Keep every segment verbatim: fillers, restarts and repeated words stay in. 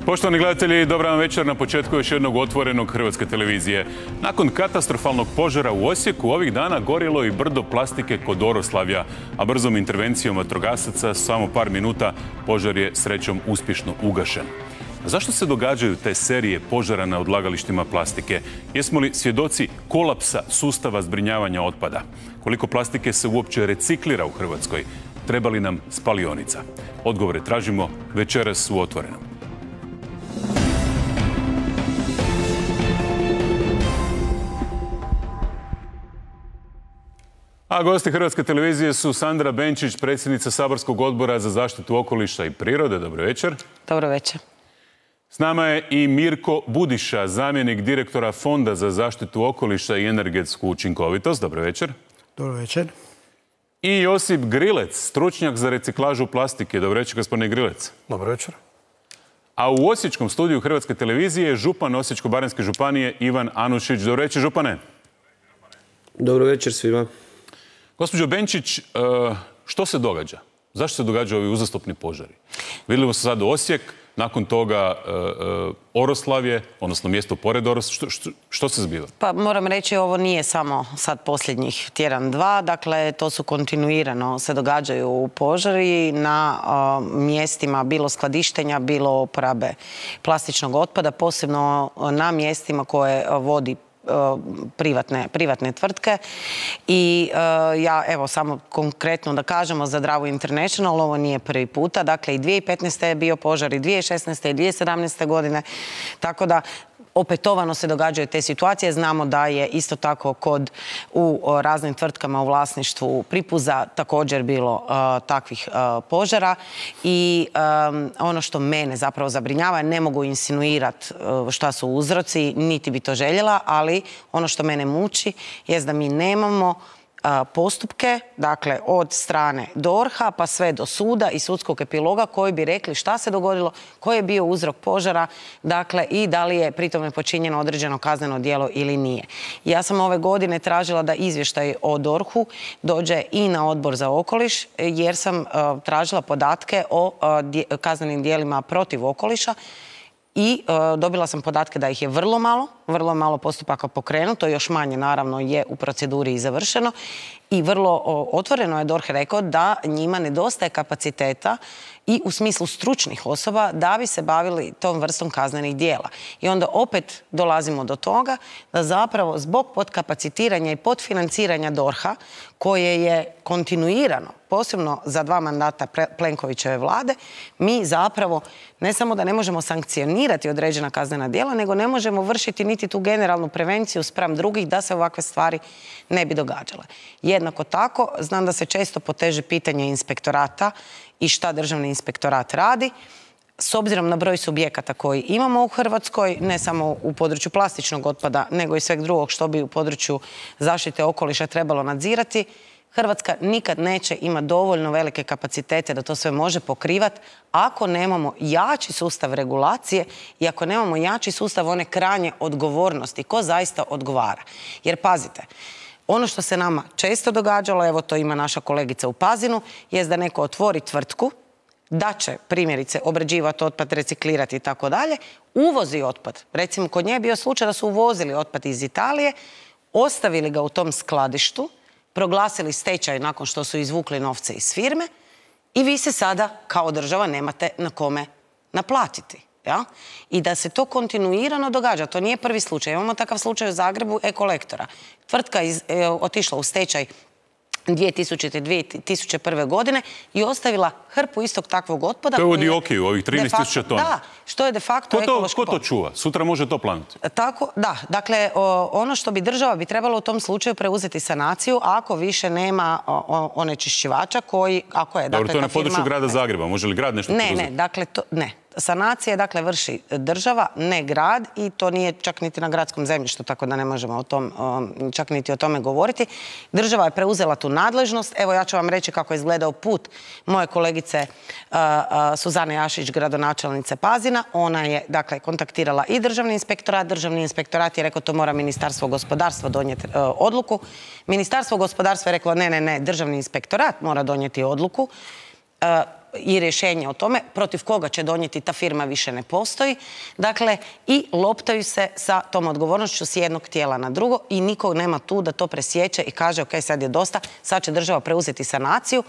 Poštovani gledatelji, dobar vam večer na početku još jednog otvorenog Hrvatske televizije. Nakon katastrofalnog požara u Osijeku, ovih dana gorilo i brdo plastike kod Oroslavlja, a brzom intervencijom vatrogasaca samo par minuta požar je srećom uspješno ugašen. A zašto se događaju te serije požara na odlagalištima plastike? Jesmo li svjedoci kolapsa sustava zbrinjavanja otpada? Koliko plastike se uopće reciklira u Hrvatskoj? Treba li nam spalionica? Odgovore tražimo večeras u Otvorenom. A gosti Hrvatske televizije su Sandra Benčić, predsjednica Saborskog odbora za zaštitu okoliša i prirode. Dobro večer. Dobro večer. S nama je i Mirko Budiša, zamjenik direktora Fonda za zaštitu okoliša i energetsku učinkovitost. Dobro večer. Dobro večer. I Josip Grilec, stručnjak za reciklažu plastike. Dobro večer, gospodine Grilec. Dobro večer. A u Osječkom studiju Hrvatske televizije je župan Osječko-baranjske županije Ivan Anušić. Dobro večer, župane. Dobro večer svima. Gospođo Benčić, što se događa? Zašto se događaju ovi uzastopni požari? Vidimo se sad Osijek, nakon toga Oroslavje, odnosno mjesto pored Oroslavlja. Što, što, što se zbiva? Pa moram reći, ovo nije samo sad posljednjih tjedan, dva. Dakle, to su kontinuirano se događaju požari na uh, mjestima bilo skladištenja, bilo uporabe plastičnog otpada, posebno na mjestima koje vodi Privatne, privatne tvrtke i uh, ja evo samo konkretno da kažemo za Dravu International, ovo nije prvi puta, dakle i dvije tisuće petnaeste. je bio požar i dvije tisuće šesnaeste. i dvije tisuće sedamnaeste. godine, tako da opetovano se događaju te situacije. Znamo da je isto tako kod u raznim tvrtkama u vlasništvu Pripuza također bilo uh, takvih uh, požara i um, ono što mene zapravo zabrinjava, ne mogu insinuirati uh, šta su uzroci, niti bi to željela, ali ono što mene muči je da mi nemamo postupke, dakle od strane D O R H-a pa sve do suda i sudskog epiloga koji bi rekli šta se dogodilo, koji je bio uzrok požara, dakle i da li je pritome počinjeno određeno kazneno djelo ili nije. Ja sam ove godine tražila da izvještaj o D O R H-u dođe i na Odbor za okoliš jer sam uh, tražila podatke o uh, kaznenim djelima protiv okoliša i uh, dobila sam podatke da ih je vrlo malo, vrlo malo postupaka pokrenuto, još manje naravno je u proceduri i završeno i vrlo uh, otvoreno je D O R H rekao da njima nedostaje kapaciteta i u smislu stručnih osoba da bi se bavili tom vrstom kaznenih djela. I onda opet dolazimo do toga da zapravo zbog podkapacitiranja i podfinanciranja D O R H-a koje je kontinuirano, posebno za dva mandata Plenkovićeve vlade, mi zapravo ne samo da ne možemo sankcionirati određena kaznena djela, nego ne možemo vršiti niti tu generalnu prevenciju spram drugih da se ovakve stvari ne bi događale. Jednako tako, znam da se često poteže pitanje inspektorata i šta državni inspektorat radi. S obzirom na broj subjekata koji imamo u Hrvatskoj, ne samo u području plastičnog otpada, nego i sveg drugog što bi u području zaštite okoliša trebalo nadzirati, Hrvatska nikad neće imati dovoljno velike kapacitete da to sve može pokrivati ako nemamo jači sustav regulacije i ako nemamo jači sustav one krajnje odgovornosti. Ko zaista odgovara? Jer pazite, ono što se nama često događalo, evo to ima naša kolegica u Pazinu, jest da neko otvori tvrtku, da će primjerice obrađivati otpad, reciklirati i tako dalje, uvozi otpad. Recimo kod nje je bio slučaj da su uvozili otpad iz Italije, ostavili ga u tom skladištu, proglasili stečaj nakon što su izvukli novce iz firme i vi se sada kao država nemate na kome naplatiti. Ja? I da se to kontinuirano događa. To nije prvi slučaj. Imamo takav slučaj u Zagrebu Ekolektora. Tvrtka je otišla u stečaj dvije tisućite. dvije tisuće prve. godine i ostavila hrpu istog takvog otpada. To je u Diokiju, ovih trinaest tisuća tona. Da, što je de facto ekološki otpad. Ko to čuva? Sutra može to planuti. Tako, da. Dakle, o, ono što bi država bi trebalo u tom slučaju preuzeti sanaciju ako više nema onečišćivača koji, ako je... Dobro, dakle, to je na firma, području grada Zagreba. Može li grad nešto ne, preuzeti? Ne, ne, dakle, to, ne. Sanacije, dakle, vrši država, ne grad i to nije čak niti na gradskom zemljištu, tako da ne možemo o tom, čak niti o tome govoriti. Država je preuzela tu nadležnost. Evo, ja ću vam reći kako je izgledao put moje kolegice uh, uh, Suzane Jašić, gradonačelnice Pazina. Ona je, dakle, kontaktirala i državni inspektorat. Državni inspektorat je rekao to mora Ministarstvo gospodarstva donijeti uh, odluku. Ministarstvo gospodarstva je reklo ne, ne, ne, državni inspektorat mora donijeti odluku. Uh, i rješenje o tome, protiv koga će donijeti ta firma više ne postoji. Dakle, i loptaju se sa tom odgovornošću s jednog tijela na drugo i nikog nema tu da to presjeće i kaže ok, sad je dosta, sad će država preuzeti sanaciju,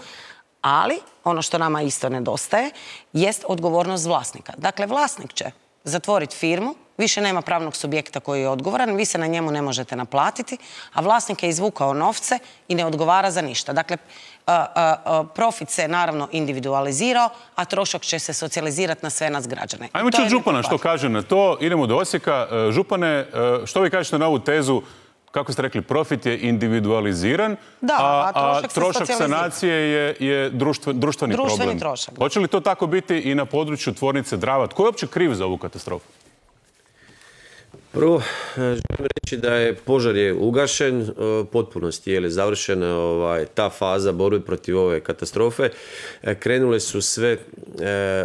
ali ono što nama isto nedostaje jest odgovornost vlasnika. Dakle, vlasnik će zatvoriti firmu, više nema pravnog subjekta koji je odgovoran, vi se na njemu ne možete naplatiti, a vlasnik je izvukao novce i ne odgovara za ništa. Dakle, profit se naravno individualizirao, a trošak će se socijalizirati na sve nas građane. Ajmo čuti župana što kaže na to. Idemo do Osijeka. Župane, što vi kažete na ovu tezu, kako ste rekli, profit je individualiziran, a trošak sanacije je društveni problem. Hoće li to tako biti i na području tvornice Drava? Tko je uopće kriv za ovu katastrofu? Prvo, želim reći da je požar je ugašen, potpunosti je završena ta faza borbe protiv ove katastrofe. Krenule su sve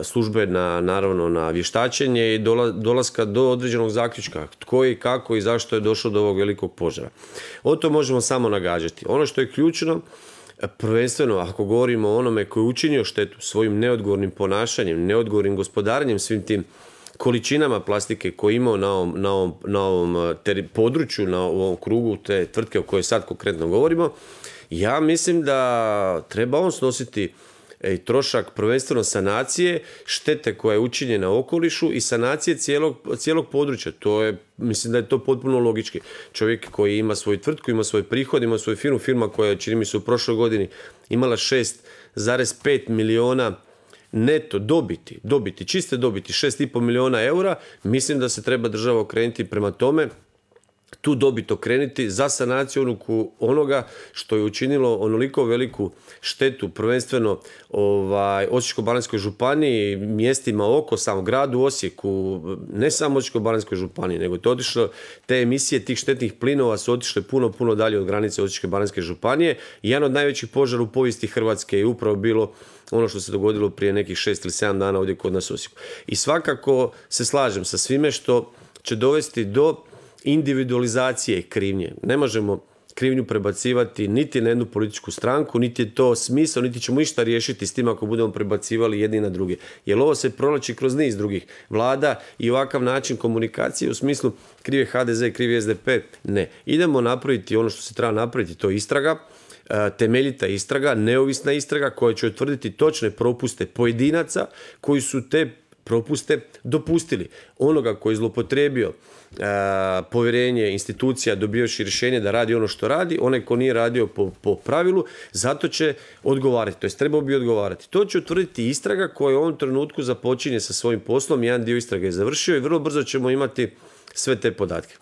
službe na, naravno, na vještačenje i dolaska do određenog zaključka tko i kako i zašto je došlo do ovog velikog požara. O to možemo samo nagađati. Ono što je ključno, prvenstveno ako govorimo o onome koji je učinio štetu svojim neodgovornim ponašanjem, neodgovornim gospodarenjem svim tim količinama plastike koje imao na ovom, na ovom, na ovom području, na ovom krugu te tvrtke o kojoj sad konkretno govorimo, ja mislim da treba on snositi trošak prvenstveno sanacije, štete koja je učinjena okolišu i sanacije cijelog, cijelog područja. To je, mislim da je to potpuno logički. Čovjek koji ima svoju tvrtku, ima svoj prihod, ima svoju firmu, firma koja je, čini mi se, u prošloj godini imala šest zarez pet miliona neto dobiti, dobiti, čiste dobiti, šest i pol miliona eura, mislim da se treba država okrenuti prema tome, tu dobit okrenuti za sanaciju onoga što je učinilo onoliko veliku štetu, prvenstveno ovaj, Osječko-baranjskoj županiji, mjestima oko, samo gradu Osijeku, ne samo Osječko-baranjskoj županiji, nego to otišlo, te emisije tih štetnih plinova su otišle puno, puno dalje od granice Osječko-baranjske županije. Jedan od najvećih požara u povijesti Hrvatske je upravo bilo ono što se dogodilo prije nekih šest ili sedam dana ovdje kod nas u Osijeku. I svakako se slažem sa svime što će dovesti do individualizacije krivnje. Ne možemo krivnju prebacivati niti na jednu političku stranku, niti je to smisao, niti ćemo išta riješiti s tim ako budemo prebacivali jedni na druge. Jer ovo se provlači kroz niz drugih vlada i ovakav način komunikacije u smislu kriv je ha de ze, kriv je es de pe. Ne. Idemo napraviti ono što se treba napraviti, to je istraga, temeljita istraga, neovisna istraga koja će utvrditi točne propuste pojedinaca koji su te propuste dopustili. Onoga koji je zloupotrijebio povjerenje institucija dobivajući rješenje da radi ono što radi, onaj ko nije radio po, po pravilu, zato će odgovarati, to jest trebao bi odgovarati. To će utvrditi istraga koja u ovom trenutku započinje sa svojim poslom, jedan dio istrage je završio i vrlo brzo ćemo imati sve te podatke.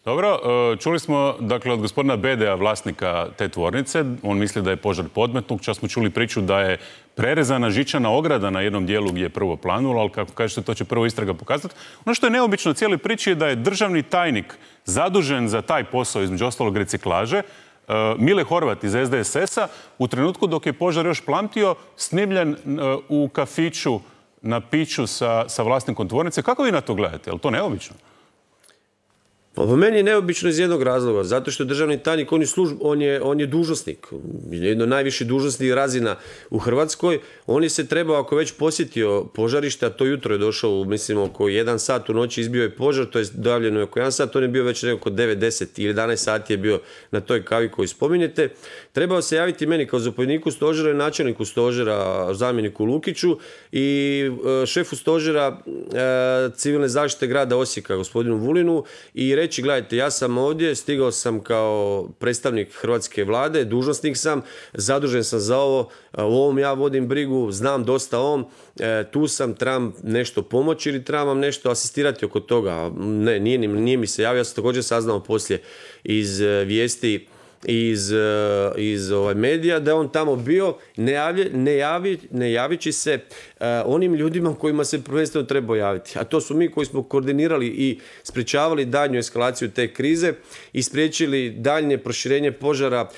Dobro, čuli smo dakle od gospodina Bedea, vlasnika te tvornice, on misli da je požar podmetnut, čak smo čuli priču da je prerezana žičana ograda na jednom dijelu gdje je prvo planulo, ali kako kažete to će prvo istraga pokazati. Ono što je neobično u cijeloj priči je da je državni tajnik zadužen za taj posao, između ostalog reciklaže, Mile Horvat iz es de es es-a, u trenutku dok je požar još plamtio, snimljen u kafiću na piću sa, sa vlasnikom tvornice. Kako vi na to gledate? Je li to neobično? Pa po meni je neobično iz jednog razloga, zato što je državni tajnik, on je, služb, on je, on je dužnosnik, jedno najviši dužnosnik razina u Hrvatskoj. On je se trebao, ako već posjetio požarište, a to jutro je došao, mislim, oko jedan sat u noći izbio je požar, to je dojavljeno je oko jedan sat, on je bio već oko devet, deset ili jedanaest sati je bio na toj kavi koju spominjete. Trebao se javiti meni kao zapovjedniku stožera i načelniku stožera, zamjeniku Lukiću i šefu stožera civilne zaštite grada Osijeka, gospodinu Vulinu, i reći, gledajte, ja sam ovdje, stigao sam kao predstavnik hrvatske vlade, dužnosnik sam, zadužen sam za ovo, u ovom ja vodim brigu, znam dosta o ovom, tu sam, trebam nešto pomoći ili trebam vam nešto asistirati oko toga. Ne, nije, nije mi se javio, ja sam također saznao poslije iz vijesti iz, iz ovaj, medija da je on tamo bio, ne, javlje, ne, javi, ne javići se uh, onim ljudima kojima se prvenstveno treba javiti. A to su mi koji smo koordinirali i sprječavali daljnju eskalaciju te krize i spriječili daljnje proširenje požara,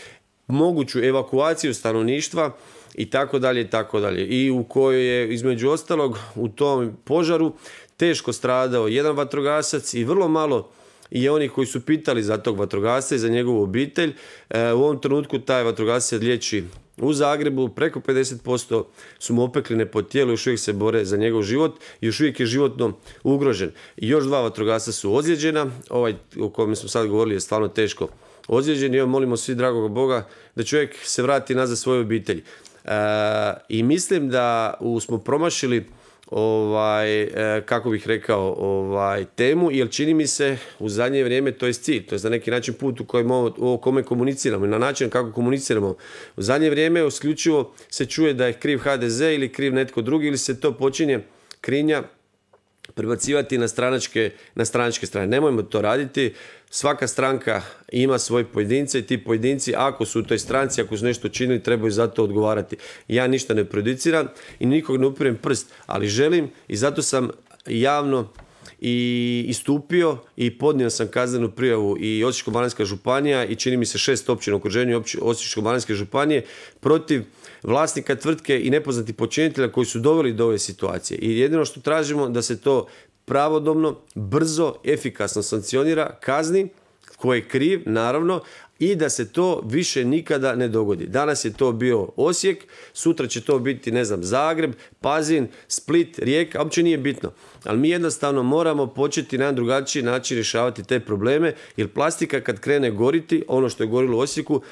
moguću evakuaciju stanovništva i tako dalje i tako dalje. I u kojoj je između ostalog u tom požaru teško stradao jedan vatrogasac i vrlo malo i oni koji su pitali za tog vatrogasca i za njegovu obitelj. U ovom trenutku taj vatrogasac liječi u Zagrebu, preko pedeset posto su mu opekline po tijelu, još uvijek se bore za njegov život i još uvijek je životno ugrožen. I još dva vatrogasca su ozlijeđena, ovaj o kojem smo sad govorili je stvarno teško ozlijeđen i evo molimo svi dragog Boga da čovjek se vrati nazad svoje obitelji. E, I mislim da u, smo promašili ovaj, e, kako bih rekao, ovaj, temu, jer čini mi se u zadnje vrijeme to je cilj, to je na neki način put u kojem o kome komuniciramo i na način kako komuniciramo. U zadnje vrijeme isključivo se čuje da je kriv ha de ze ili kriv netko drugi ili se to počinje krivnja prebacivati na stranačke, na stranačke strane. Nemojmo to raditi. Svaka stranka ima svoje pojedince i ti pojedinci, ako su u toj stranci, ako su nešto činili, trebaju za to odgovarati. Ja ništa ne prejudiciram i nikog ne upirem prst, ali želim i zato sam javno i istupio i podnio sam kaznenu prijavu i Osječko-baranjska županija i čini mi se šest općina u okruženju Osječko-baranjske županije protiv vlasnika tvrtke i nepoznatih počinitelja koji su doveli do ove situacije. I jedino što tražimo da se to pravodobno, brzo, efikasno sankcionira, kazni, ko je kriv, naravno, i da se to više nikada ne dogodi. Danas je to bio Osijek, sutra će to biti, ne znam, Zagreb, Pazin, Split, Rijeka, uopće nije bitno. Ali mi jednostavno moramo početi na jedan drugačiji način rješavati te probleme, jer plastika kad krene goriti, ono što je gorilo u Osijeku,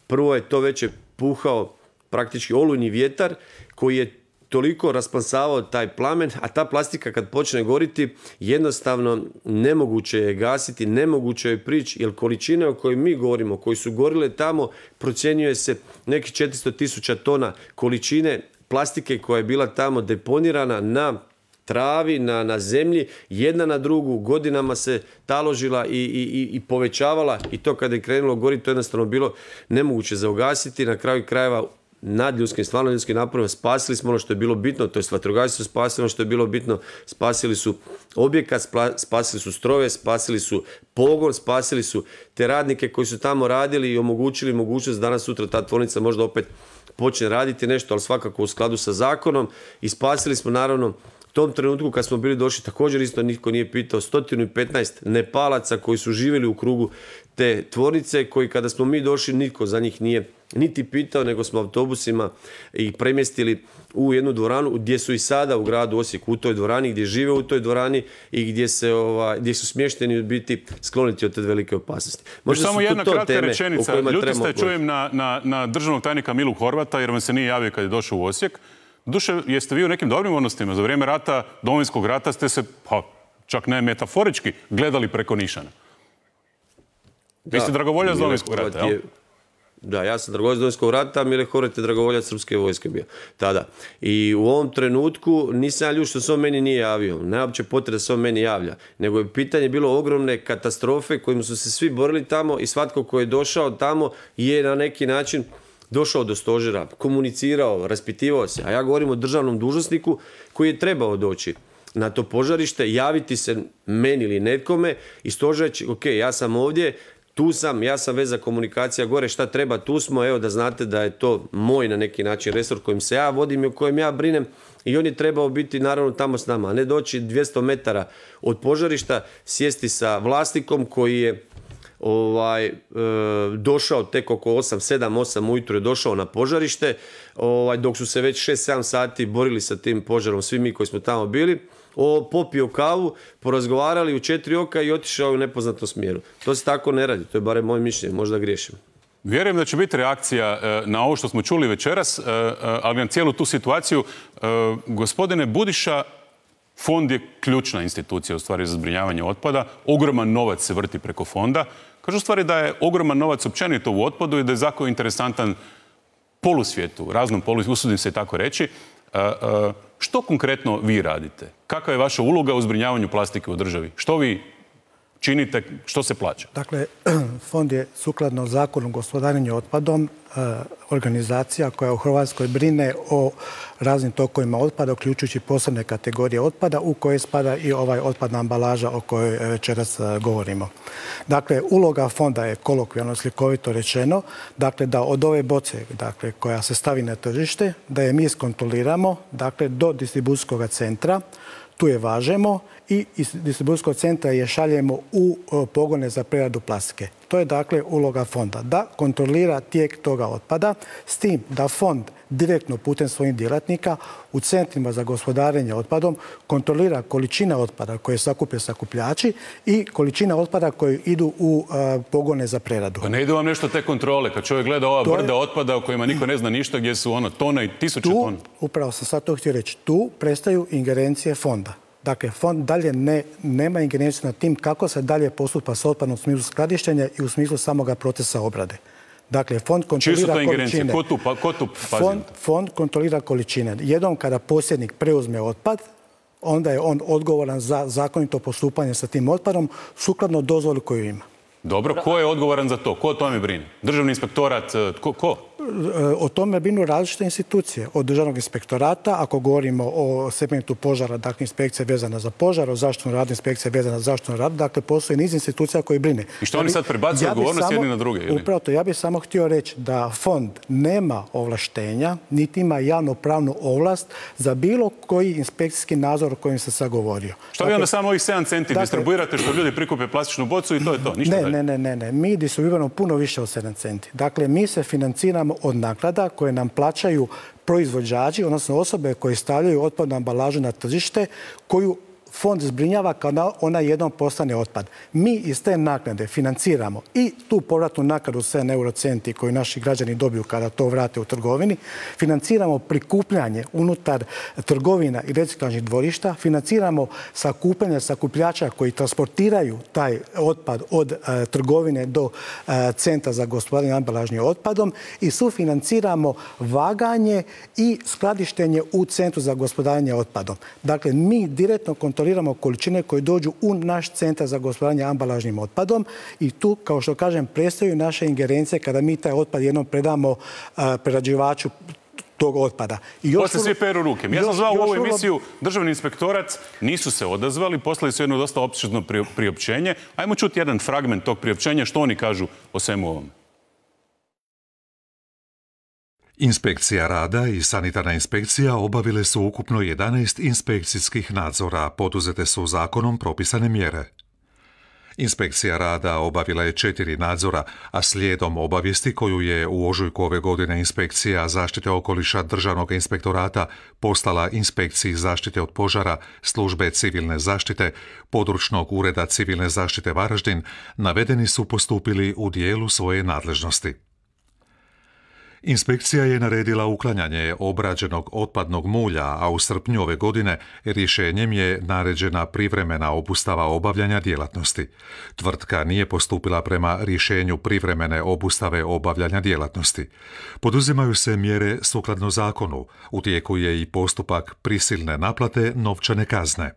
prvo je to već je puhao praktički olujni vjetar koji je toliko raspansavao taj plamen, a ta plastika kad počne goriti, jednostavno nemoguće je gasiti, nemoguće je prići, jer količine o kojoj mi govorimo, koji su gorile tamo, procjenjuje se nekih četiristo tisuća tona količine plastike koja je bila tamo deponirana na travi, na, na zemlji, jedna na drugu, godinama se taložila i, i, i povećavala i to kada je krenulo goriti, to je jednostavno bilo nemoguće za ugasiti, na kraju krajeva nadljudskim, stvarno ljudskim naporima spasili smo ono što je bilo bitno, to je vatrogasci su spasili ono što je bilo bitno, spasili su objekat, spasili su strojeve, spasili su pogon, spasili su te radnike koji su tamo radili i omogućili mogućnost danas sutra ta tvornica možda opet počne raditi nešto, ali svakako u skladu sa zakonom i spasili smo naravno u tom trenutku kad smo bili došli, također isto nitko nije pitao, sto petnaest Nepalaca koji su živjeli u krugu te tvornice, koji kada smo mi došli nitko za njih nije niti pitao, nego smo autobusima ih premjestili u jednu dvoranu gdje su i sada u gradu Osijeku, u toj dvorani, gdje žive u toj dvorani i gdje, se, ova, gdje su smješteni biti skloniti od te velike opasnosti. Možda samo jedna kratka rečenica. Ljuti ste, čujem na, na, na državnog tajnika Milu Horvata, jer vam se nije javio kad je došao u Osijek. Duše, jeste vi u nekim dobrim odnosima? Za vrijeme rata, Domovinskog rata ste se, pa, čak ne metaforički, gledali preko nišana. Vi ste dragovoljac Domovinskog rata, jel? Da, ja sam dragovoljac Domovinskog rata, Mile Horvat je dragovoljac Srpske vojske bio tada. I u ovom trenutku nisam ljut što se on meni nije javio. Ne uopće potreba da se on meni javlja. Nego je pitanje bilo ogromne katastrofe kojim su se svi borili tamo i svatko ko je došao tamo je na neki način došao do stožera, komunicirao, raspitivao se. A ja govorim o državnom dužnosniku koji je trebao doći na to požarište, javiti se meni ili netkome i stožer će, ok, ja sam ovdje, tu sam, ja sam veza komunikacija gore, šta treba, tu smo, evo da znate da je to moj na neki način resor kojim se ja vodim i o kojem ja brinem i on je trebao biti naravno tamo s nama, a ne doći dvjesto metara od požarišta, sjesti sa vlasnikom koji je ovaj, e, došao tek oko osam, sedam, osam ujutro je došao na požarište, ovaj, dok su se već šest sedam sati borili sa tim požarom, svi mi koji smo tamo bili, o, popio kavu, porazgovarali u četiri oka i otišao u nepoznatom smjeru. To se tako ne radi, to je barem moje mišljenje, možda griješim. Vjerujem da će biti reakcija na ovo što smo čuli večeras, ali na cijelu tu situaciju. Gospodine Budiša, fond je ključna institucija u stvari za zbrinjavanje otpada. Ogroman novac se vrti preko fonda. Kažu u stvari da je ogroman novac općenito u otpadu i da je zakon interesantan polusvijetu, raznom polusvijetu, usudim se i tako reći. Što konkretno vi radite? Kakva je vaša uloga u zbrinjavanju plastike u državi? Što vi činite, što se plaća? Dakle, fond je sukladno zakonu o gospodarenju otpadom organizacija koja u Hrvatskoj brine o raznim tokovima otpada, uključujući posebne kategorije otpada u koje spada i ovaj otpadna ambalaža o kojoj večeras govorimo. Dakle, uloga fonda je kolokvijalno slikovito rečeno, dakle, da od ove boce, dakle, koja se stavi na tržište, da je mi iskontroliramo, dakle, do distribucijskog centra, tu je važemo i iz distribucijskog centra je šaljemo u pogone za preradu plastike. To je dakle uloga fonda, da kontrolira tijek toga otpada, s tim da fond direktno putem svojih djelatnika u centrima za gospodarenje otpadom kontrolira količine otpada koje sakupe sakupljači i količina otpada koje idu u a, pogone za preradu. Pa ne ide vam nešto te kontrole, kad čovjek gleda ova to brda je... otpada o kojima niko ne zna ništa, gdje su ono tone i tisuće tu, tona. Upravo sam sad to htio reći, tu prestaju ingerencije fonda. Dakle, fond dalje ne, nema ingerenciju nad tim kako se dalje postupa s otpadom u smislu skladištenja i u smislu samoga procesa obrade. Dakle, fond kontrolira količine. Ko tu, pa, ko tu fond, fond kontrolira količine. Jednom kada posjednik preuzme otpad, onda je on odgovoran za zakonito postupanje sa tim otpadom sukladno dozvoli koju ima. Dobro, ko je odgovoran za to? Ko o tome brine? Državni inspektorat, ko? ko? O tome brinu različite institucije. Od državnog inspektorata, ako govorimo o segmentu požara, dakle inspekcija vezana za požar, o zaštitnom radu, inspekcija vezana za zaštitnom radu, dakle postoji niz institucija koji brine. I što oni sad prebacuju odgovornost jedni na druge? Ili? Upravo to, ja bih samo htio reći da fond nema ovlaštenja, niti ima javnopravnu ovlast za bilo koji inspekcijski nadzor o kojem sam sad govorio. Što dakle, vi onda samo ovih sedam centi dakle, distribuirate što ljudi prikupe plastičnu bocu i to je to? Ništa ne, dalje. ne, ne, ne, ne. Mi distribuiramo puno više od sedam centi. Dakle, mi se financiramo od naknada koje nam plaćaju proizvođači, odnosno osobe koje stavljaju otpadnu ambalažu na tržište, koju fond zbrinjava kada ona jednom postane otpad. Mi iz te naknade financiramo i tu povratnu naknadu sedam eurocenti koju naši građani dobiju kada to vrate u trgovini, financiramo prikupljanje unutar trgovina i reciklažnih dvorišta, financiramo sakupljanje sakupljača koji transportiraju taj otpad od e, trgovine do e, centra za gospodarenje ambalažnim otpadom i sufinanciramo vaganje i skladištenje u centru za gospodarenje otpadom. Dakle, mi direktno kontroliramo količine koje dođu u naš centar za gospodarenje ambalažnim otpadom i tu, kao što kažem, prestaju naše ingerencije kada mi taj otpad jednom predamo uh, prerađivaču tog otpada. I još Posle svi peru ruke. Ja sam zvao u ovu emisiju Državni inspektorat, nisu se odazvali, poslali su jedno dosta opsežno priopćenje. Ajmo čuti jedan fragment tog priopćenja, što oni kažu o svemu ovom. Inspekcija rada i sanitarna inspekcija obavile su ukupno jedanaest inspekcijskih nadzora, poduzete su zakonom propisane mjere. Inspekcija rada obavila je četiri nadzora, a slijedom obavijesti koju je u ožujku ove godine Inspekcija zaštite okoliša Državnog inspektorata poslala Inspekciji zaštite od požara, Službe civilne zaštite, Područnog ureda civilne zaštite Varaždin, navedeni su postupili u dijelu svoje nadležnosti. Inspekcija je naredila uklanjanje obrađenog otpadnog mulja, a u srpnju ove godine rješenjem je naređena privremena obustava obavljanja djelatnosti. Tvrtka nije postupila prema rješenju privremene obustave obavljanja djelatnosti. Poduzimaju se mjere sukladno zakonu. U tijeku je i postupak prisilne naplate novčane kazne.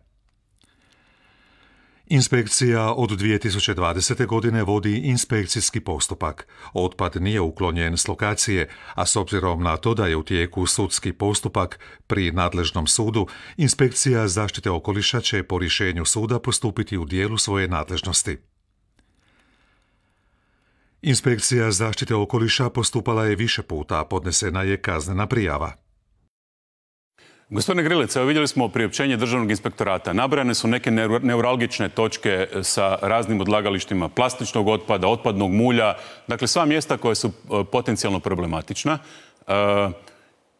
Inspekcija od dvije tisuće dvadesete. godine vodi inspekcijski postupak. Otpad nije uklonjen s lokacije, a s obzirom na to da je u tijeku sudski postupak pri nadležnom sudu, Inspekcija zaštite okoliša će po rješenju suda postupiti u dijelu svoje nadležnosti. Inspekcija zaštite okoliša postupala je više puta, podnesena je kaznena prijava. Gospodine Grilec, evo vidjeli smo priopćenje Državnog inspektorata. Nabrojane su neke neuralgične točke sa raznim odlagalištima plastičnog otpada, otpadnog mulja, dakle sva mjesta koja su potencijalno problematična. E,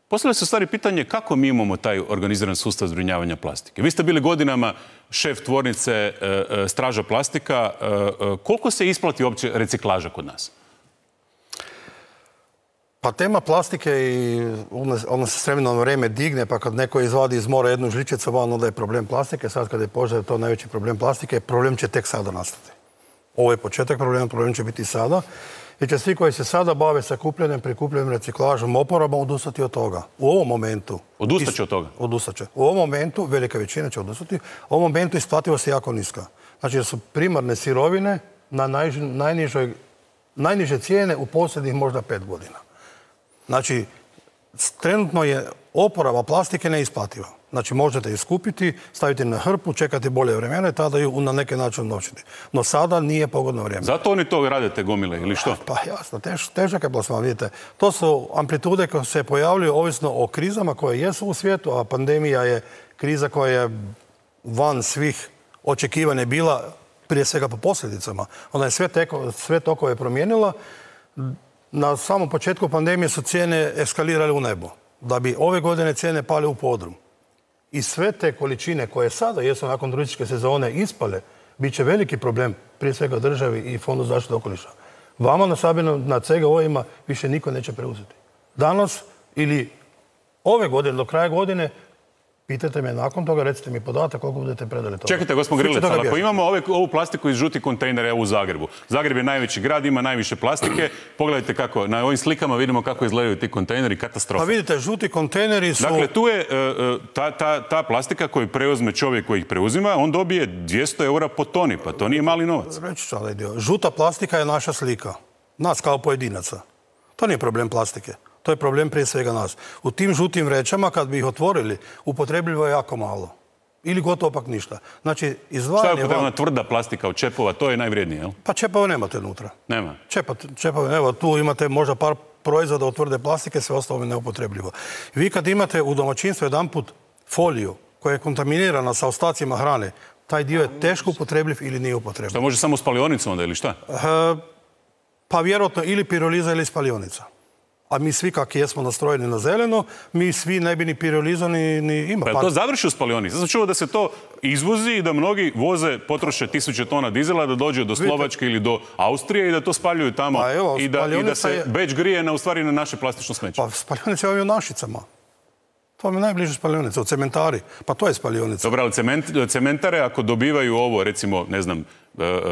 Postavlja se u stvari pitanje kako mi imamo taj organiziran sustav zbrinjavanja plastike. Vi ste bili godinama šef tvornice e, e, Straža plastika. E, e, koliko se isplati uopće reciklaža kod nas? Pa tema plastike i ona se s vremenom vrijeme digne, pa kad neko izvadi iz mora jednu žličicu, van onda je problem plastike. Sad kad je požar, to je najveći problem plastike. Problem će tek sada nastati. Ovo je početak problema, problem će biti sada. I će svi koji se sada bave sakupljanjem, prikupljanjem, reciklažom, oporabom odustati od toga. U ovom momentu... Odustat će od toga? Odustat će. U ovom momentu, velika većina će odustati, u ovom momentu isplativost je jako niska. Znači da su primarne sirovine na najnižoj, najniže cijene u posljednjih možda pet godina. Znači, trenutno je oporaba plastike neisplativa. Znači, možete ju skupiti, staviti na hrpu, čekati bolje vremena i tada ju na neki način noćiti. No sada nije pogodno vrijeme. Zato oni to radite gomile ili što? Pa jasno, tež, težak je plasman, vidite. To su amplitude koje se pojavljuju ovisno o krizama koje jesu u svijetu, a pandemija je kriza koja je van svih očekivanja bila prije svega po posljedicama. Ona je sve, teko, sve tokove promijenila. Na samom početku pandemije su cijene eskalirale u nebo, da bi ove godine cijene pale u podrum. I sve te količine koje sada jesu nakon turističke sezone ispale, bit će veliki problem, prije svega državi i Fondu zaštite okoliša. Vama na Sabinu, na C G O-ima više niko neće preuzeti. Danas ili ove godine, do kraja godine, pitajte me nakon toga, recite mi podatak koliko budete predali toga. Čekajte, gospodin Grilec, ali ako imamo ove, ovu plastiku iz žutih kontejnera u Zagrebu. Zagreb je najveći grad, ima najviše plastike. Pogledajte kako, na ovim slikama vidimo kako izgledaju ti kontejneri, katastrofa. Pa vidite, žuti kontejneri su... Dakle, tu je uh, ta, ta, ta plastika koju preuzme čovjek koji ih preuzima, on dobije dvjesto eura po toni, pa to nije mali novac. Reći ću ovaj dio. Žuta plastika je naša slika. Nas kao pojedinaca. To nije problem plastike. To je problem prije svega nas. U tim žutim vrećama, kad bi ih otvorili, upotrebljivo je jako malo. Ili gotovo pak ništa. Znači, izdvajanje... Šta je upotrebna tvrda plastika od čepova? To je najvrijednije, jel? Pa čepova nemate unutra. Nema? Čepa, čepova, evo, tu imate možda par proizvoda od tvrde plastike, sve ostalo je neupotrebljivo. Vi kad imate u domaćinstvu jedanput foliju koja je kontaminirana sa ostacima hrane, taj dio je teško upotrebljiv ili nije upotrebljiv. Što može samo spalionicom onda ili šta? E, pa vjerojatno ili piroliza ili spalionica. A mi svi kak jesmo nastrojeni na zeleno, mi svi ne bi ni piroliza ni, ni ima. Pa je to završi u spalionici? Sam čuo da se to izvozi i da mnogi voze, potroše tisuće tona dizela da dođe do Slovačke ili do Austrije i da to spaljuju tamo pa evo, i, da, i da se je... Beč grije na, u stvari na naše plastično smeće. Pa spalionica je ovdje u Našicama. To vam je najbliže spalionica, u cementari. Pa to je spalionica. Dobro, ali cement, cementare ako dobivaju ovo, recimo, ne znam,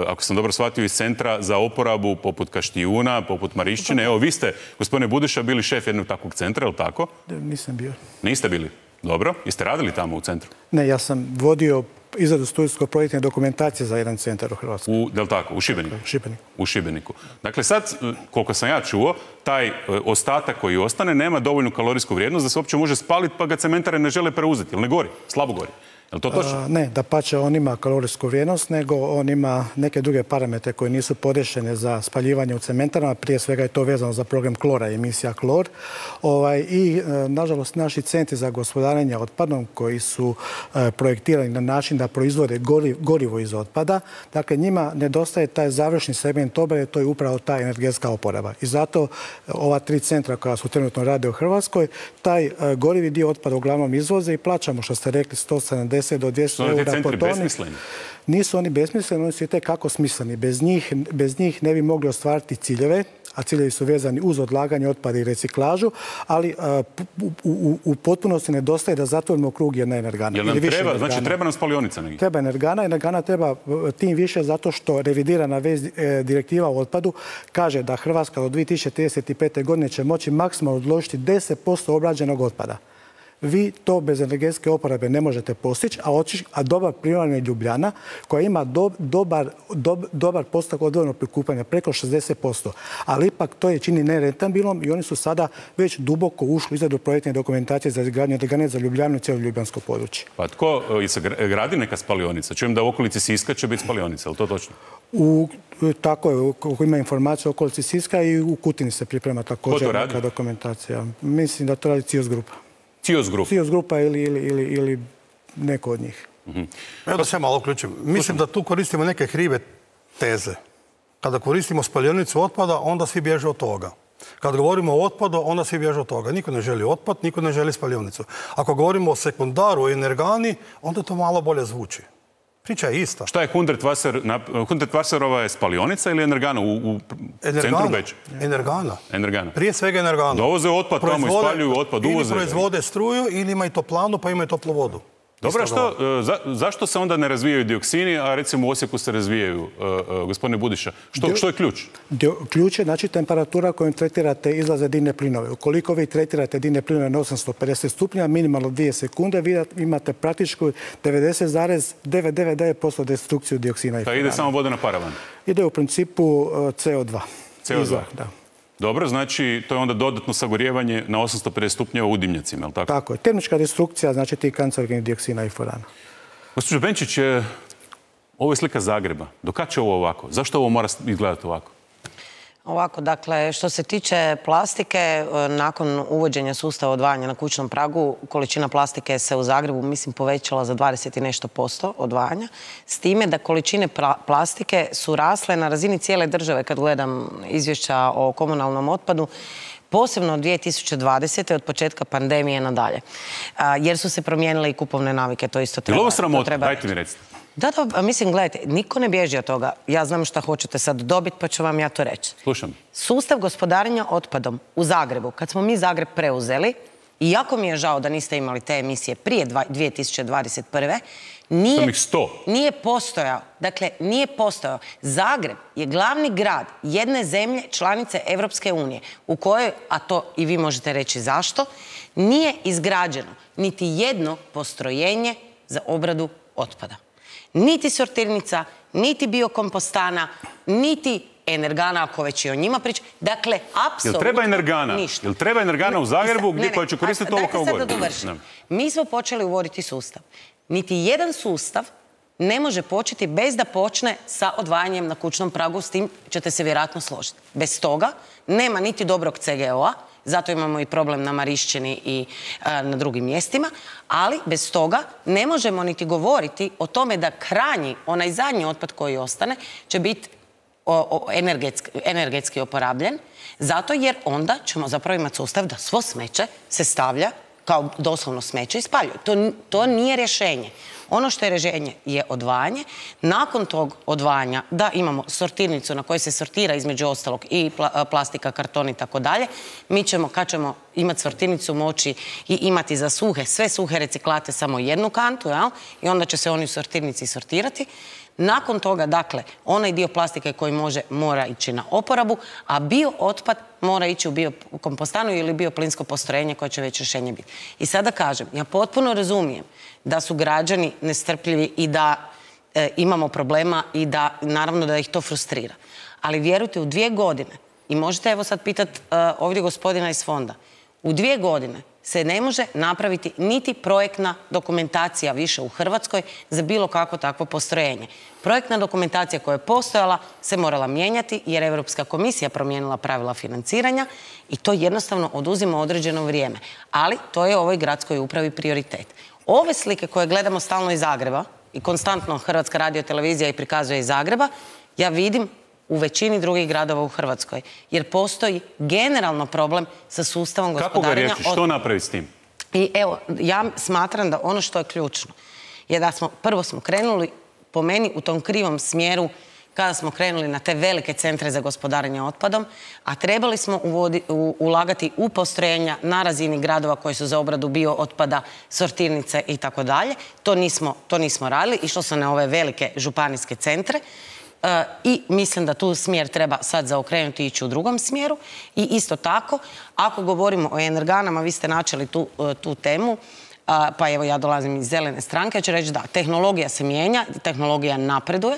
ako sam dobro shvatio, iz centra za oporabu poput Kaštijuna, poput Marišćine. Evo, vi ste, gospodine Budiša, bili šef jednog takvog centra, je li tako? Nisam bio. Niste bili? Dobro. Jeste radili tamo u centru? Ne, ja sam vodio izradu studijsko-projektne dokumentacije za jedan centar u Hrvatskoj. U, je li tako? U Šibeniku? U Šibeniku. U Šibeniku. Dakle, sad, koliko sam ja čuo, taj ostatak koji ostane nema dovoljnu kalorijsku vrijednost da se uopće može spaliti, pa ga cementare ne žele preuzeti. Ili ne gori? Slabo gori. Je li to točno? A, ne, da pače on ima kalorijsku vrijednost, nego on ima neke druge parametre koji nisu podešene za spaljivanje u cementarama. Prije svega je to vezano za program klora, emisija klor. Ovaj, I, e, nažalost, naši centri za gospodarenje otpadom koji su e, projektirani na način da proizvode gori, gorivo iz otpada, dakle, njima nedostaje taj završni segment obrade, to je upravo ta energetska oporaba. I zato ova tri centra koja su trenutno rade u Hrvatskoj, taj e, gorivi dio otpada uglavnom izvoze i plaćamo, što ste rekli, sto sedamdeset do dvjesto eura po toni. Nisu oni besmisleni, oni su i tekako smisleni. Bez njih, bez njih ne bi mogli ostvariti ciljeve, a ciljevi su vezani uz odlaganje otpada i reciklažu, ali a, u, u, u potpunosti nedostaje da zatvorimo krug jedna energana. Jel nam treba, znači treba nam spalionica negdje? Treba energana. Energana treba tim više zato što revidirana vez e, direktiva o otpadu kaže da Hrvatska do dvije tisuće trideset pete. godine će moći maksimalno odložiti deset posto obrađenog otpada. Vi to bez energetske oporabe ne možete postići, a, oči, a dobar primjer je Ljubljana koja ima do, dobar, do, dobar postotak odvojenog prikupljanja, preko šezdeset posto. Ali ipak to je čini nerentabilnom i oni su sada već duboko ušli u izradu projektne dokumentacije za izgradnju energane za Ljubljanu i cijelo ljubljansko područje. Pa tko se gradi neka spalionica? Čujem da u okolici Siska će biti spalionica, je li to točno? U, tako je, ako ima informacije o okolici Siska i u Kutini se priprema također neka dokumentacija. Mislim da to radi Cios Grupa. Cios Grupa. Cios Grupa ili, ili, ili, ili neko od njih. Mm-hmm. Evo da se malo uključim. Mislim da tu koristimo neke krive teze. Kada koristimo spaljonicu otpada, onda svi bježe od toga. Kad govorimo o otpadu, onda svi bježe od toga. Niko ne želi otpad, niko ne želi spaljonicu. Ako govorimo o sekundaru, o energani, onda to malo bolje zvuči. Priča je ista. Šta je Hundertwasserova je spalionica ili energana u, u centru Beča? Energana. Energana. Prije svega energana. Dovoze otpad tamo, ispaljuju otpad, uvoze. Ili proizvode struju, ili imaju toplanu, pa imaju toplu vodu. Dobro, što, za, zašto se onda ne razvijaju dioksini, a recimo u Osijeku se razvijaju, uh, uh, gospodine Budiša? Što, što je ključ? Ključ je, znači, temperatura kojom tretirate izlaze dimne plinove. Ukoliko vi tretirate dimne plinove na osamsto pedeset stupnja, minimalno dvije sekunde, vi imate praktički devedeset zarez devetsto devedeset devet posto destrukciju dioksina i furana. Da ide samo vodena paravan? Ide u principu C O dva. C O dva, Izvah, da. Dobro, znači to je onda dodatno sagorijevanje na osamsto pedeset stupnjeva u dimnjacima, je li tako? Tako je. Termička destrukcija, znači ti kancerogenih dioksina i furana. Gospođo Benčić, ovo je slika Zagreba. Do kad će ovo ovako? Zašto ovo mora izgledati ovako? Ovako, dakle, što se tiče plastike, nakon uvođenja sustava odvajanja na kućnom pragu, količina plastike se u Zagrebu, mislim, povećala za dvadeset i nešto posto odvajanja, s time da količine plastike su rasle na razini cijele države, kad gledam izvješća o komunalnom otpadu, posebno od dvije tisuće dvadesete. od početka pandemije nadalje. Jer su se promijenile i kupovne navike, to isto treba. Je li ovo sramota? Dajte mi recite. Da, da, mislim, gledajte, niko ne bježi od toga. Ja znam šta hoćete sad dobiti, pa ću vam ja to reći. Slušam. Sustav gospodarenja otpadom u Zagrebu, kad smo mi Zagreb preuzeli, i jako mi je žao da niste imali te emisije prije dvije tisuće dvadeset prve. Nije, nije postojao. Dakle, nije postojao. Zagreb je glavni grad jedne zemlje članice Evropske unije u kojoj, a to i vi možete reći zašto, nije izgrađeno niti jedno postrojenje za obradu otpada. Niti sortirnica, niti biokompostana, niti energana, ako već i o njima priča. Dakle, apsolutno Jel treba energana? ništa. Jel treba energana u Zagrebu gdje koja će koristiti ovo kao gorivo? Dajte sad da dovršim. Mi smo počeli uvoditi sustav. Niti jedan sustav ne može početi bez da počne sa odvajanjem na kućnom pragu, s tim ćete se vjerojatno složiti. Bez toga nema niti dobrog ce ge o-a, zato imamo i problem na Marišćini i a, na drugim mjestima, ali bez toga ne možemo niti govoriti o tome da krajnji, onaj zadnji otpad koji ostane, će biti energetski, energetski oporabljen, zato jer onda ćemo zapravo imati sustav da svo smeće se stavlja kao doslovno smeće i spaljuje. To, to nije rješenje. Ono što je rješenje je odvajanje. Nakon tog odvajanja da imamo sortirnicu na kojoj se sortira između ostalog i plastika, karton i tako dalje. Mi ćemo, kad ćemo imati sortirnicu, moći i imati za suhe, sve suhe reciklate samo jednu kantu, jel? I onda će se oni u sortirnici sortirati. Nakon toga, dakle, onaj dio plastike koji može, mora ići na oporabu, a bio otpad mora ići u biokompostanu ili bioplinsko postrojenje koje će već rješenje biti. I sada kažem, ja potpuno razumijem da su građani nestrpljivi i da e, imamo problema i da, naravno, da ih to frustrira. Ali vjerujte, u dvije godine, i možete evo sad pitati e, ovdje gospodina iz fonda, u dvije godine se ne može napraviti niti projektna dokumentacija više u Hrvatskoj za bilo kakvo takvo postrojenje. Projektna dokumentacija koja je postojala se morala mijenjati jer je Europska komisija promijenila pravila financiranja i to jednostavno oduzima određeno vrijeme. Ali to je ovoj gradskoj upravi prioritet. Ove slike koje gledamo stalno iz Zagreba i konstantno Hrvatska radiotelevizija i prikazuje iz Zagreba, ja vidim u većini drugih gradova u Hrvatskoj. Jer postoji generalno problem sa sustavom gospodarenja. Kako ga riješi? Što napraviti s tim? I evo, ja smatram da ono što je ključno je da smo, prvo smo krenuli po meni u tom krivom smjeru kada smo krenuli na te velike centre za gospodarenje otpadom, a trebali smo uvodi, u, ulagati u postrojenja na razini gradova koji su za obradu bio otpada, sortirnice i tako dalje. To nismo, to nismo radili, išlo se na ove velike županijske centre. I mislim da tu smjer treba sad zaokrenuti i ići u drugom smjeru. I isto tako, ako govorimo o energanama, vi ste načeli tu, tu temu, pa evo ja dolazim iz zelene stranke, ja ću reći da, tehnologija se mijenja, tehnologija napreduje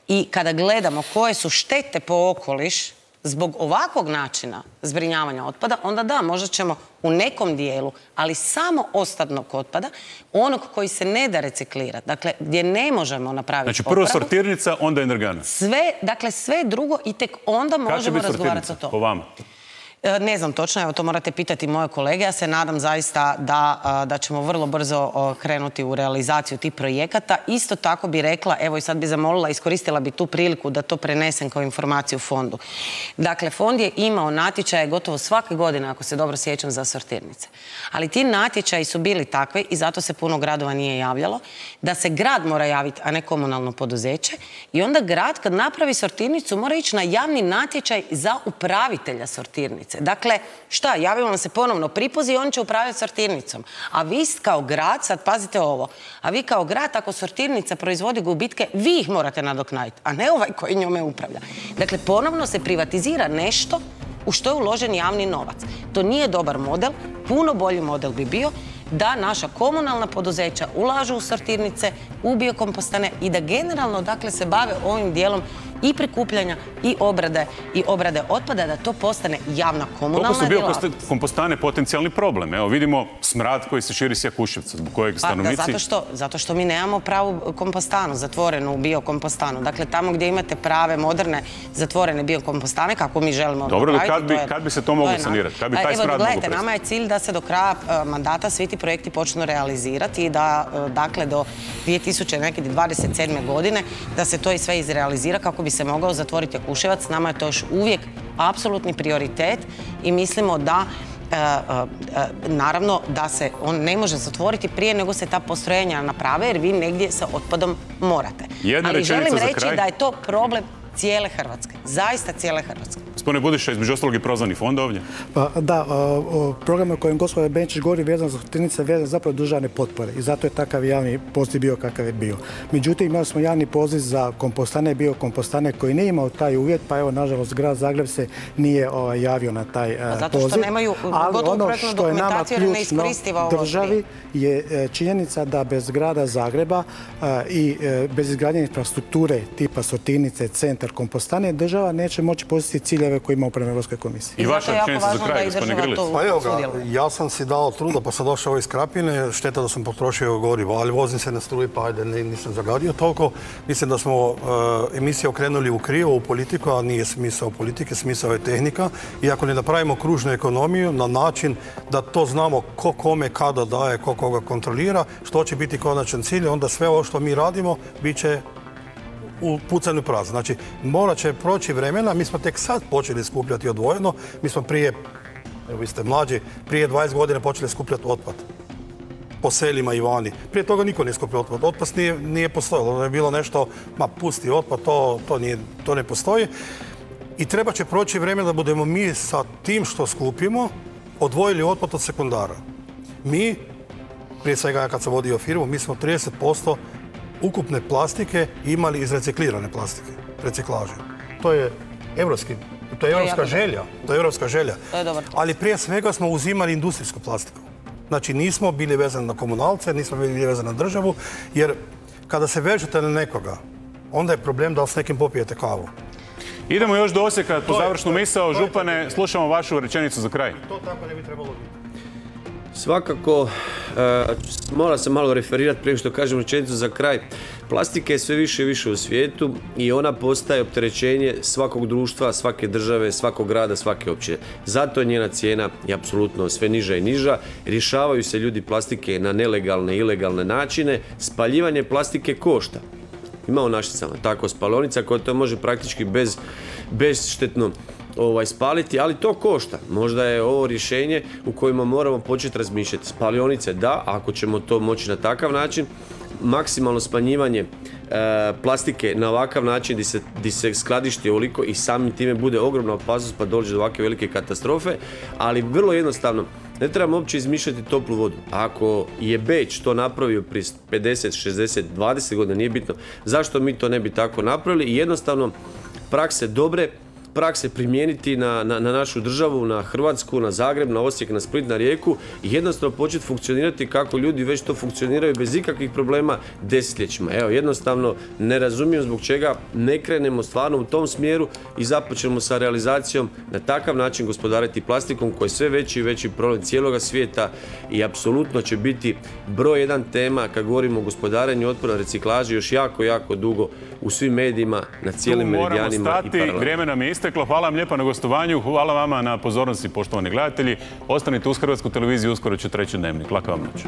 i kada gledamo koje su štete po okoliš zbog ovakvog načina zbrinjavanja otpada, onda da, možda ćemo u nekom dijelu, ali samo ostatnog otpada, onog koji se ne da reciklirati, dakle, gdje ne možemo napraviti Znači, prvo opravu, sortirnica, onda energana. Sve, dakle, sve drugo i tek onda možemo razgovarati o to. to. Po vama? Ne znam točno, evo to morate pitati moje kolege. Ja se nadam zaista da, da ćemo vrlo brzo krenuti u realizaciju tih projekata. Isto tako bi rekla, evo i sad bi zamolila, iskoristila bi tu priliku da to prenesem kao informaciju fondu. Dakle, fond je imao natječaje gotovo svake godine, ako se dobro sjećam, za sortirnice. Ali ti natječaji su bili takvi i zato se puno gradova nije javljalo, da se grad mora javiti, a ne komunalno poduzeće. I onda grad kad napravi sortirnicu mora ići na javni natječaj za upravitelja sortirnice. Dakle, šta, javimo vam se ponovno pripozi i on će upravljati sortirnicom. A vi kao grad, sad pazite ovo, a vi kao grad, ako sortirnica proizvodi gubitke, vi ih morate nadoknaditi, a ne ovaj koji njome upravlja. Dakle, ponovno se privatizira nešto u što je uložen javni novac. To nije dobar model, puno bolji model bi bio da naša komunalna poduzeća ulažu u sortirnice, u biokompostane i da generalno, dakle, se bave ovim dijelom i prikupljanja i obrade i obrade otpada, da to postane javna komunalna djelatnost. Koliko su biokostane potencijalni problem? Evo vidimo smrad koji se širi s Jakuševca, zbog kojeg stanovnici... Pa, zato što, zato što mi nemamo pravu kompostanu, zatvorenu biokompostanu. Dakle, tamo gdje imate prave, moderne, zatvorene biokompostane, kako mi želimo Dobro, napraviti... Dobro, kad bi se to moglo sanirati? Kad bi taj smrad moglo prestati? Nama je cilj da se do kraja mandata svi ti projekti počnu realizirati i da, dakle, do dvije tisuće dvadeset sedme. godine da se to i sve izrealizira kako bi se mogao zatvoriti Jakuševac. Nama je to još uvijek apsolutni prioritet i mislimo da naravno da se on ne može zatvoriti prije nego se ta postrojenja naprave, jer vi negdje sa otpadom morate. Ali želim reći da je to problem cijele Hrvatske. Zaista cijele Hrvatske. Gospodine Budiša, između ostalog i prozvani fond ovdje? Pa, da, program o kojem gospodin Benčić govori vezan za Sortirnice vezan zapravo državne potpore i zato je takav javni poziv bio kakav je bio. Međutim, imali smo javni poziv za kompostane, biokompostane koji nije imao taj uvjet, pa evo, nažalost, grad Zagreb se nije javio na taj poziv. Zato što nemaju gotovo projektnu dokumentaciju jer ne iskoristiva ovo državi je činjenica da bez grada Zagreba i bez izgradnje infrastrukture tipa Sortirnice, centar, kompostane, država neće moći postići ciljeve koje ima prema Europskoj komisiji. I vaša rečenica za kraj, gospodine Grlić. Pa evo ga, ja sam si dao truda pa sam došao iz Krapine, šteta da sam potrošio gorivo, ali vozim se na struji pa ajde nisam zagadio toliko. Mislim da smo emisije okrenuli u krivo, u politiku, a nije smisao politike, smisao je tehnika. I ako ne napravimo kružnu ekonomiju na način da to znamo ko kome kada daje, ko koga kontrolira, što će biti konačan cilj, onda sve ovo što mi radimo bit će u pucanju prazno. Znači, morat će proći vremena, mi smo tek sad počeli skupljati odvojeno, mi smo prije, evo vi ste mlađi, prije dvadeset godina počeli skupljati otpad po selima i vani. Prije toga niko nije skupljao otpad. Otpad nije, nije postojalo. Ono je bilo nešto, ma pusti otpad, to, to, nije, to ne postoji. I treba će proći vremena da budemo mi sa tim što skupimo odvojili otpad od sekundara. Mi, prije svega kad sam vodio firmu, mi smo trideset posto ukupne plastike imali iz reciklirane plastike, reciklaže. To je evropski, to je evropska želja, to je evropska želja. Ali prije svega smo uzimali industrijsku plastiku. Znači nismo bili vezani na komunalce, nismo bili vezani na državu, jer kada se vežete na nekoga, onda je problem da s nekim popijete kavu. Idemo još do Osijeka, po završnu misao. Župane, slušamo vašu rečenicu za kraj. To tako ne bi trebalo biti. Svakako, mora se malo referirati prije što kažem rečenicu za kraj. Plastika je sve više i više u svijetu i ona postaje opterećenje svakog društva, svake države, svakog grada, svake općine. Zato je njena cijena i apsolutno sve niža i niža. Rješavaju se ljudi plastike na nelegalne i ilegalne načine. Spaljivanje plastike košta. Ima u Našicama tako spalionica koja to može praktički bez, bezštetno Ovaj, spaliti, ali to košta. Možda je ovo rješenje u kojima moramo početi razmišljati. Spalionice da, ako ćemo to moći na takav način, maksimalno smanjivanje e, plastike na ovakav način gdje se, gdje se skladišti ovoliko i samim time bude ogromna opasnost pa dođe do ovakve velike katastrofe, ali vrlo jednostavno ne trebamo uopće izmišljati toplu vodu. Ako je Beč to napravio prije pedeset, šezdeset, dvadeset godina, nije bitno, zašto mi to ne bi tako napravili i jednostavno prakse dobre, prakse primijeniti na, na, na našu državu, na Hrvatsku, na Zagreb, na Osijek, na Split, na Rijeku i jednostavno početi funkcionirati kako ljudi već to funkcioniraju bez ikakvih problema desetljećima. Evo, jednostavno ne razumijem zbog čega ne krenemo stvarno u tom smjeru i započnemo sa realizacijom na takav način gospodariti plastikom koji je sve veći i veći problem cijeloga svijeta i apsolutno će biti broj jedan tema kad govorimo o gospodarenju otpada, reciklaži još jako, jako dugo u svim medijima, na cijelim meridijanima i paralelima. Vrijeme nam je isteklo. Hvala vam lijepa na gostovanju. Hvala vama na pozornosti, poštovani gledatelji. Ostanite uz Hrvatsku televiziju, uskoro će treći Dnevnik. Laka vam noć.